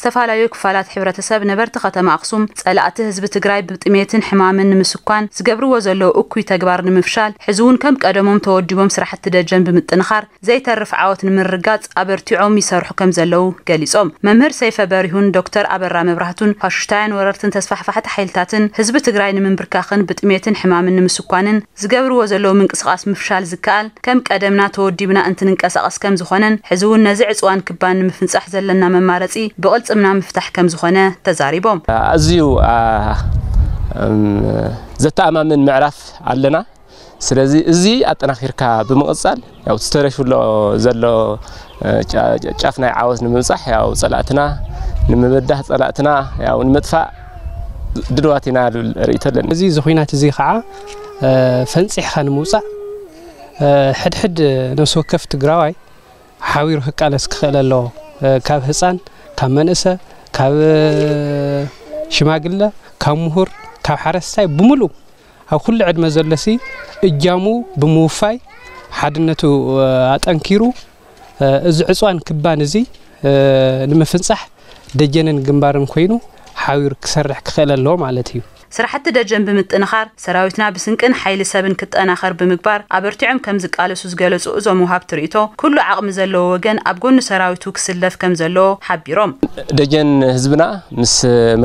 ዝተፈላለዩ ክፋላት ሕብረተሰብ ነበርቲ ከተማ ኣኽሱም ጸላእቲ ህዝቢ ትግራይ ብጥሜትን ሕማምን ንምስኳን ዝገብርዎ ዘለዉ እኩይ ተግባር ንምፍሻል ሕዚ እውን ከም ቀደሞም ተወዲቦም ስራሕቲ ደጀን ብምጥንኻር ዘይተርፍ ዓወት ንምርጋጽ ኣበርቲዖም ይሰርሑ ከም ዘለዉ ገሊጾም። መምህር ሰይፈ በሪሁን ዶክተር ኣበራ መብራህቱን ፋሽስታውያን ወረርትን ተስፋሕፋሕቲ ሓይልታትን ህዝቢ ትግራይ ንምንብርካኽን ብጥሜትን ሕማምን ንምስኳንን ዝገብርዎ ዘለዉ ምንቅስቓስ ምፍሻል ዝከኣል ከም ቀደምና ተወዲብና እንትንንቀሳቐስ ከም ዝኾነን ሕዚ እውን ነዚ ዕፅዋን ክባን ንምፍንጻሕ ዘለና መማረፂ ብቕልፅምና ምፍታሕ ከም ዝኾነ ተዛሪቦም። ኣዝዩ ዘተኣማምን ምዕራፍ ኣለና። ስለዚ እዚ ኣጠናኺርካ ብምቕፃል ያው ተተረፊ ዘሎ ዘሎ ጫፍ ናይ ዓወት ንምብፃሕ ያው ፀላእትና ንምብዳህ ፀላእትና ያው ንምጥፋእ ድልዋት ኢና ልብል ርእይቶ ኣለኒ። እዚ ኹናት እዚ ከዓ ፈንፂሕካ ንምውፃእ ሕድሕድ ነፍሲ ወከፍ ትግራዋይ ሓቢሩ ክቃለስ ክኽእል ኣለዎ። ካብ ህፃን፣ ካብ መንእሰ፣ ካብ ሽማግለ፣ ካብ ምሁር፣ ካብ ሓረስታይ ብምሉእ ኣብ ኩሉ ዕድመ ዘሎሲ እጃሙ ብምውፋይ ሓድነቱ ኣጠንኪሩ እዚ ዕፅዋን ክባን እዚ ንምፍንፃሕ ደጀንን ግንባርን ኮይኑ ሓቢሩ ክሰርሕ ክኽእል ኣለዎ ማለት እዩ። ስራሕቲ ደጀን ብምጥንኻር ሰራዊትና ብስንቅን ሓይሊ ሰብን ክጠናኸር ብምግባር ኣበርቲዖም ከም ዝቃለሱ ዝገለፁ እዞም ወሃብቲ ርእይቶ፣ ኩሉ ዓቕሚ ዘለዎ ወገን ኣብ ጎኒ ሰራዊቱ ክስለፍ ከም ዘለዎ ሓቢሮም። ደጀን ህዝብና ምስ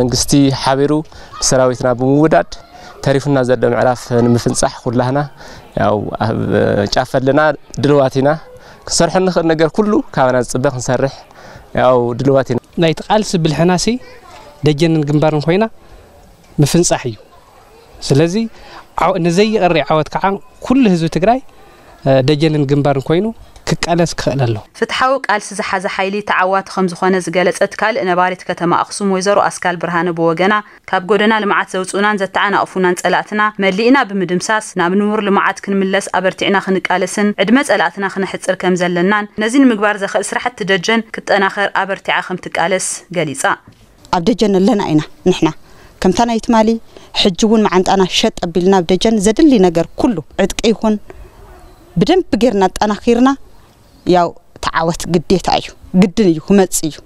መንግስቲ ሓቢሩ ምስ ሰራዊትና ብምውዳድ ተሪፉና ዘሎ ምዕራፍ ንምፍንፃሕ ኩላህና ያው ኣብ ጫፍ ኣለና፣ ድልዋት ኢና። ክንሰርሖ እንኽእል ነገር ኩሉ ካባና ዝፅበ ክንሰርሕ ያው ድልዋት ኢና። ናይቲ ቃልሲ ብልሕናሲ ደጀንን ግንባርን ኮይና ምፍንፃሕ እዩ። ስለዚ ንዘይቐሪ ዓወት ከዓ ኩሉ ህዝቢ ትግራይ ደጀንን ግንባርን ኮይኑ ክቃለስ ክኽእል ኣለዎ። ፍትሓዊ ቃልሲ ዝሓዘ ሓይሊ ተዓዋቲ ከም ዝኾነ ዝገለፀት ካልእ ነባሪት ከተማ ኣኽሱም ወይዘሮ ኣስካል ብርሃነ ብወገና፣ ካብ ጎደና ልምዓት ዘውፅኡናን ዘተዓናቕፉናን ፀላእትና መሊእና ብምድምሳስ ናብ ንቡር ልምዓት ክንምለስ ኣበርቲዕና ክንቃለስን ዕድመ ፀላእትና ክነሕፅር ከም ዘለናን ነዚ ንምግባር ዘኽእል ስራሕቲ ደጀን ክጠናኸር ኣበርቲዓ ከም ትቃለስ ገሊፃ። ኣብ ደጀን ኣለና ኢና ንሕና ከምታ ናይ ትማሊ ሕጂ እውን መዓንጣና ሸጥ ኣቢልና ኣብ ደጀን ዘድሊ ነገር ኩሉ ዕጥቂ ይኹን ብደንቢ ጌርና ኣጠናኺርና ያው ተዓወት ግዴታ እዩ ግድን እዩ ክመጽእ እዩ።